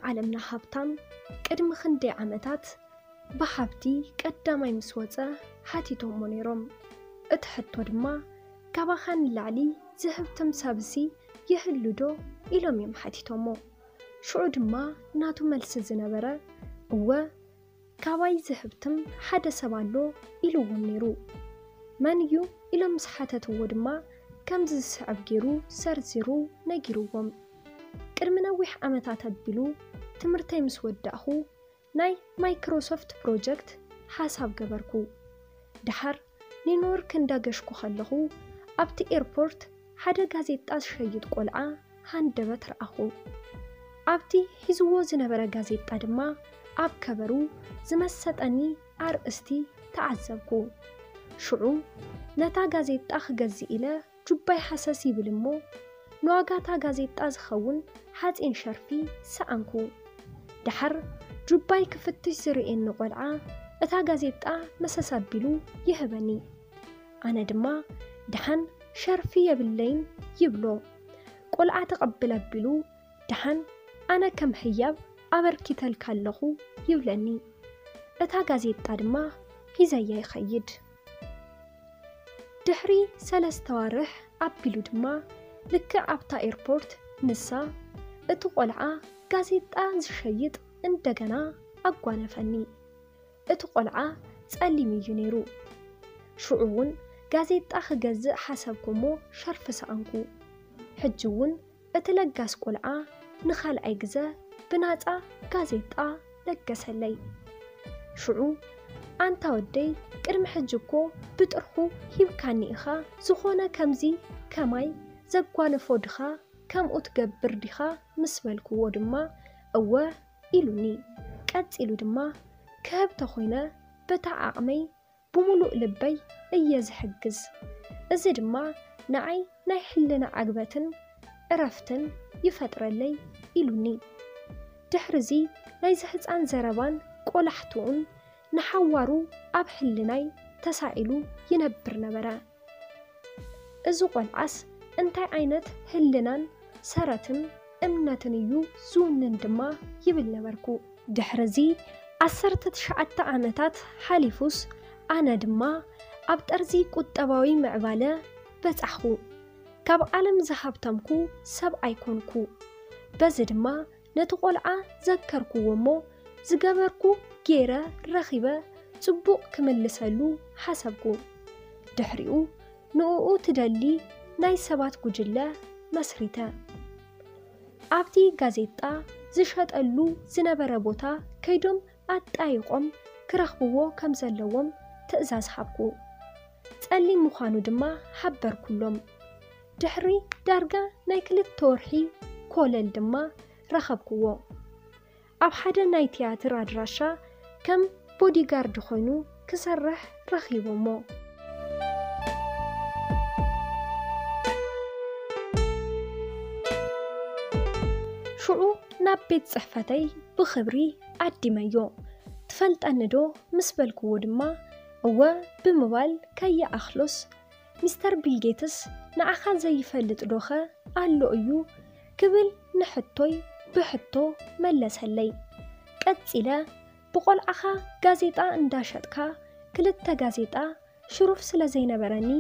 ዓለምና ሃብታም ቅድሚ ክንደይ ዓመታት ብሃብቲ ቀዳማይ ምስ ወጸ ሓቲቶሞ ነይሮም። እቲ ሕቶ ድማ፣ "ካባኻ ንላዕሊ ዝህብትም ሰብሲ ይህሉ ዶ?" ኢሎም እዮም ሓቲቶሞ። ሽዑ ድማ ናቱ መልሲ ዝነበረ፣ "እወ፣ ካባይ ዝህብትም ሓደ ሰብ ኣሎ" ኢልዎም ነይሩ። "መን እዩ?" ኢሎም ምስ ሓተትዎ ድማ ከምዚ ዝስዕብ ገይሩ ዘርዚሩ ነጊርዎም። "ቅድሚ ነዊሕ ዓመታት ኣቢሉ ትምህርተይ ምስ ወዳእኹ ናይ ማይክሮሶፍት ፕሮጀክት ሓሳብ ገበርኩ። ደሓር ኒውዮርክ እንዳገሽኩ ከለኹ ኣብቲ ኤርፖርት ሓደ ጋዜጣ ዝሸይጥ ቆልዓ ሃንደበት ረኣኹ። ኣብቲ ሒዝዎ ዝነበረ ጋዜጣ ድማ ኣብ ከቨሩ ዝመሰጠኒ ኣርእስቲ ተዓዘብኩ። ሽዑ ነታ ጋዜጣ ክገዝእ ኢለ ጁባይ ሃሰስ ይብል እሞ፣ ንዋጋታ ጋዜጣ ዝኸውን ሓጺን ሸርፊ ሰኣንኩ። ደሓር ጁባይ ክፍትሽ ዝርእየኒ ቆልዓ እታ ጋዜጣ መሰስ ኣቢሉ ይህበኒ። ኣነ ድማ፣ "ደሓን ሸርፊ የብለይን" ይብሎ። ቆልዓ ተቐብል ኣቢሉ፣ "ደሓን ኣነ ከም ህያብ ኣበርኪተልካ ኣለኹ" ይብለኒ። እታ ጋዜጣ ድማ ሒዘያ ይኸይድ። ድሕሪ ሰለስተ ዋርሕ ኣቢሉ ድማ፣ ልክዕ ኣብታ ኤርፖርት፣ ንሳ፣ እቲ ቆልዓ ጋዜጣ ዝሸይጥ፣ እንደገና ኣጓነፈኒ። እቲ ቆልዓ ጸሊም እዩ ነይሩ። ሽዑ እውን ጋዜጣ ክገዝእ ሓሰብኩ እሞ ሸርፊ ሰኣንኩ። ሕጂ እውን እቲ ለጋስ ቆልዓ ንኻልኣይ ግዘ ብናጻ ጋዜጣ ለገሰለይ። ሽዑ፣ "ኣንታ ወደይ፣ ቅድሚ ሕጂ እኮ ብጥርሑ ሂብካኒ ኢኻ፣ ዝኾነ ከምዚ ከማይ ዘጓነፎ ድኻ ከምኡ ትገብር ዲኻ?" ምስ በልክዎ ድማ፣ "እወ" ኢሉኒ። ቀጺሉ ድማ፣ "ክህብ ተኾይነ በታ ዓቕመይ ብምሉእ ልበይ እየ ዝሕግዝ። እዚ ድማ ንዓይ ናይ ሕልና ዕግበትን ዕረፍትን ይፈጥረለይ" ኢሉኒ። ድሕርዚ ናይዚ ህጻን ዘረባን ቆላሕትኡን ንሓዋሩ ኣብ ሕልናይ ተሳኢሉ ይነብር ነበረ። "እዚ ቆልዓስ እንታይ ዓይነት ህልናን ሰረትን እምነትን እዩ ዝውንን?" ድማ ይብል ነበርኩ። ድሕርዚ ዓሰርተ ትሽዓተ ዓመታት ሓሊፉስ፣ ኣነ ድማ ኣብ ጠርዚ ቁጠባዊ ምዕባለ በጻሕኹ። ካብ ዓለም ዝሃብተምኩ ሰብ ኣይኮንኩ። በዚ ድማ ነቲ ቆልዓ ዘከርክዎ እሞ፣ ዝገበርኩ ገይረ ረኺበ ጽቡቕ ክምልሰሉ ሓሰብኩ። ድሕሪኡ ንእኡ ትደሊ ናይ ሰባት ጉጅለ መስሪተ። ኣብቲ ጋዜጣ ዝሸጠሉ ዝነበረ ቦታ ከይዶም ኣጣይቖም ክረኽብዎ ከም ዘለዎም ትእዛዝ ሃብኩ። ጸሊም ምዃኑ ድማ ሓበርኩሎም። ድሕሪ ዳርጋ ናይ ክልተ ወርሒ ኮለል ድማ ረኸብክዎ። ኣብ ሓደ ናይ ትያትር ኣድራሻ ከም ቦዲጋርድ ኮይኑ ክሰርሕ ረኺቦሞ። ሽዑ ናብ ቤት ጽሕፈተይ ብኽብሪ ዓዲመዮ። "ትፈልጠኒ ዶ?" ምስ በልክዎ ድማ፣ "እወ" ብምባል ከይኣኽሎስ፣ "ሚስተር ቢል ጌትስ ንዓኻ ዘይፈልጥ ዶኸ ኣሎ እዩ?" ክብል ንሕቶይ ብሕቶ መለሰለይ። ቀጺለ፣ "ብቆልዓኻ ጋዜጣ እንዳሸጥካ ክልተ ጋዜጣ ሽሩፍ ስለ ዘይነበረኒ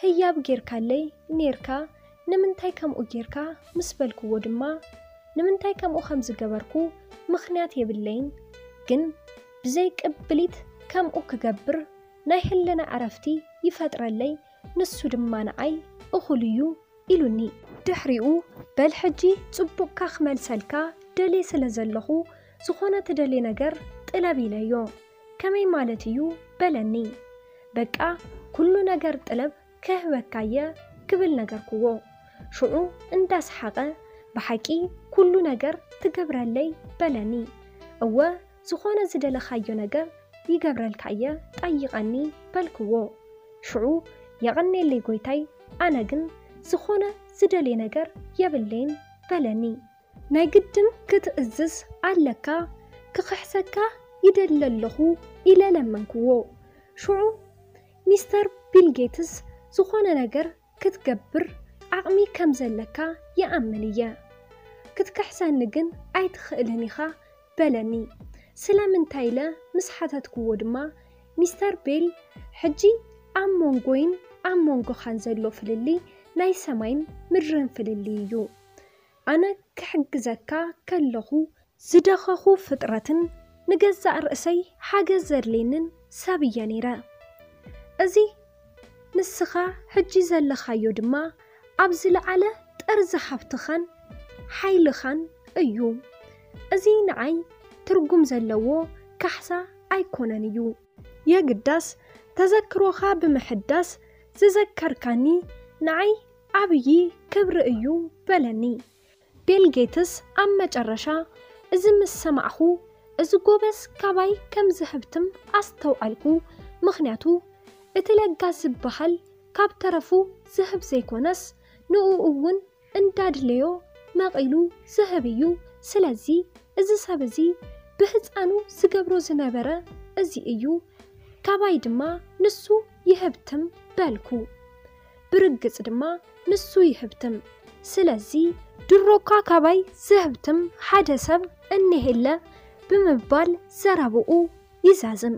ህያብ ጌርካለይ ኔርካ፣ ንምንታይ ከምኡ ጌርካ?" ምስ በልክዎ ድማ፣ ንምንታይ ከምኡ ከም ዝገበርኩ ምኽንያት የብለይን፣ ግን ብዘይ ቅብሊት ከምኡ ክገብር ናይ ህልና ዕረፍቲ ይፈጥረለይ፣ ንሱ ድማ ንዓይ እኹል እዩ ኢሉኒ። ድሕሪኡ፣ "በል ሕጂ ጽቡቕካ ክመልሰልካ ደልየ ስለ ዘለኹ፣ ዝኾነ ትደልየ ነገር ጥለብ" ኢለዮ። "ከመይ ማለት እዩ?" በለኒ። "በቃ ኩሉ ነገር ጥለብ ክህበካየ" ክብል ነገርክዎ። ሽዑ እንዳሰሓቐ፣ "ብሓቂ ኩሉ ነገር ትገብረለይ?" በለኒ። "እወ፣ ዝኾነ ዝደለኻዮ ነገር ይገብረልካየ፣ ጠይቐኒ" በልክዎ። ሽዑ፣ "የቐኔለይ ጎይታይ፣ ኣነ ግን ዝኾነ ዝደልየ ነገር የብለይን" በለኒ። "ናይ ግድን ክትእዝዝ ኣለካ፣ ክኽሕሰካ ይደሊ ኣለኹ" ኢለ ለመንክዎ። ሽዑ፣ "ሚስተር ቢል ጌትስ፣ ዝኾነ ነገር ክትገብር ዓቕሚ ከም ዘለካ ይኣምን እየ። ክትክሕሰኒ ግን ኣይትኽእልን ኢኻ በለኒ። ስለምንታይ ኢለ ምስ ሓተትክዎ ድማ፣ ሚስተር ቤል፣ ሕጂ ኣብ መንጎይን ኣብ መንጎኻን ዘሎ ፍልልይ ናይ ሰማይን ምድርን ፍልልይ እዩ። ኣነ ክሕግዘካ ከለኹ ዝደኸኹ ፍጥረትን ንገዛእ ርእሰይ ሓገዝ ዘድልየንን ሰብ እየ ነይረ። እዚ ንስኻ ሕጂ ዘለኻዮ ድማ ኣብ ዝለዓለ ጠርዚ ሃብትኻን ሓይልኻን እዩ። እዚ ንዓይ ትርጉም ዘለዎ ካሕሳ ኣይኮነን እዩ። የግዳስ ተዘክሮኻ ብምሕዳስ ዝዘከርካኒ ንዓይ ዓብዪ ክብሪ እዩ በለኒ። ቤል ጌትስ ኣብ መጨረሻ እዚ ምስ ሰማዕኹ፣ እዚ ጎበዝ ካባይ ከም ዝህብትም ኣስተውዓልኩ። ምኽንያቱ እቲ ለጋስ ዝበሃል ካብ ተረፉ ዝህብ ዘይኮነስ ንኡ እውን እንዳድለዮ መቒሉ ዝህብ እዩ። ስለዚ እዚ ሰብ እዚ ብህፃኑ ዝገብሮ ዝነበረ እዚ እዩ። ካባይ ድማ ንሱ ይህብትም በልኩ። ብርግጽ ድማ ንሱ ይህብትም። ስለዚ ድሮኳ ካባይ ዝህብትም ሓደ ሰብ እኒሄለ ብምባል ዘረብኡ ይዛዝም።